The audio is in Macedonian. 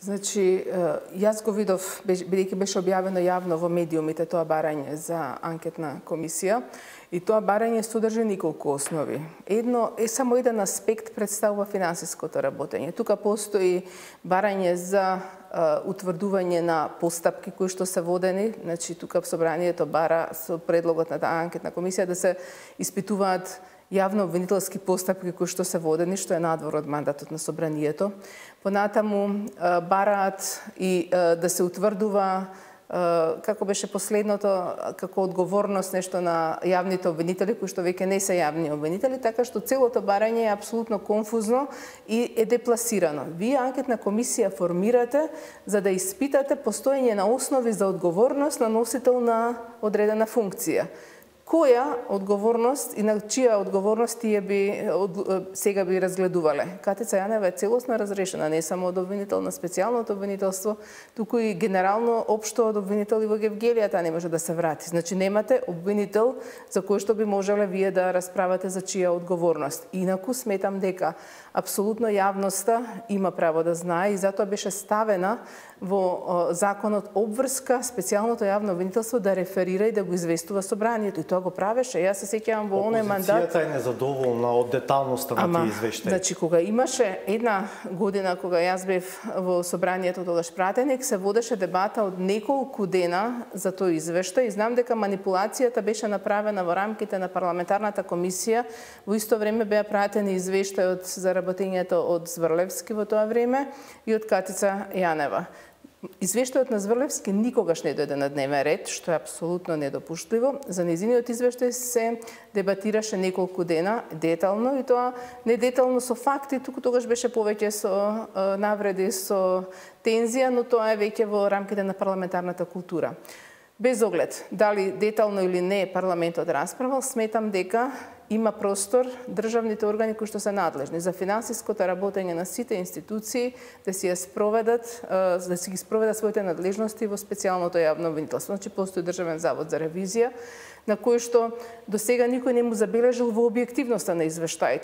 Значи, јас го видов, бидејќи беше објавено јавно во медиумите тоа барање за анкетна комисија, и тоа барање содржи неколку основи. Само еден аспект представува финансиското работење. Тука постои барање за утврдување на постапки кои што се водени, значи тука собранието бара со предлогот на таа анкетна комисија да се испитуваат јавно обвинителски постапки кои што се водени, што е надвор од мандатот на собранието. Понатаму бараат и да се утврдува како беше последното, како одговорност нешто на јавните обвинители кои што веќе не се јавни обвинители, така што целото барање е апсолутно конфузно и е депласирано. Вие анкетна комисија формирате за да испитате постоење на основи за одговорност на носител на одредена функција. Која одговорност и на чија одговорност тие сега би разгледувале? Катица Јанева е целосно разрешена, не само од обвинител на специјалното обвинителство, туку и генерално општо од обвинители во Гевгелијата не може да се врати. Значи немате обвинител за кој што би можеле вие да расправате за чија одговорност. Инаку сметам дека апсолутно јавноста има право да знае и затоа беше ставена во законот обврска специјалното јавно обвинителство да реферира и да го известува собранието. И тоа го правеше. Јас се сеќавам во оној мандат. Опозицијата е незадоволна од деталноста на тие извештаи. Значи, кога имаше една година кога јас бев во собранието тогаш пратеник, се водеше дебата од неколку дена за тој извештај и знам дека манипулацијата беше направена во рамките на парламентарната комисија. Во исто време беа пратени извештаи за работењето од Зврлевски во тоа време и од Катица Јанева. Извештајот на Зврлевски никогаш не дојде на дневен ред, што е апсолутно недопуштливо. За незиниот извештај се дебатираше неколку дена детално и тоа не детално со факти, туку тогаш беше повеќе со навреди, со тензија, но тоа е веќе во рамките на парламентарната култура. Без оглед дали детално или не парламентот расправал, сметам дека има простор државните органи кои што се надлежни за финансиското работење на сите институции да си ги спроведат своите надлежности во специјалното јавно обвинителство. Значи постои Државен завод за ревизија на кој што до сега никој не му забележал во објективноста на извештаите.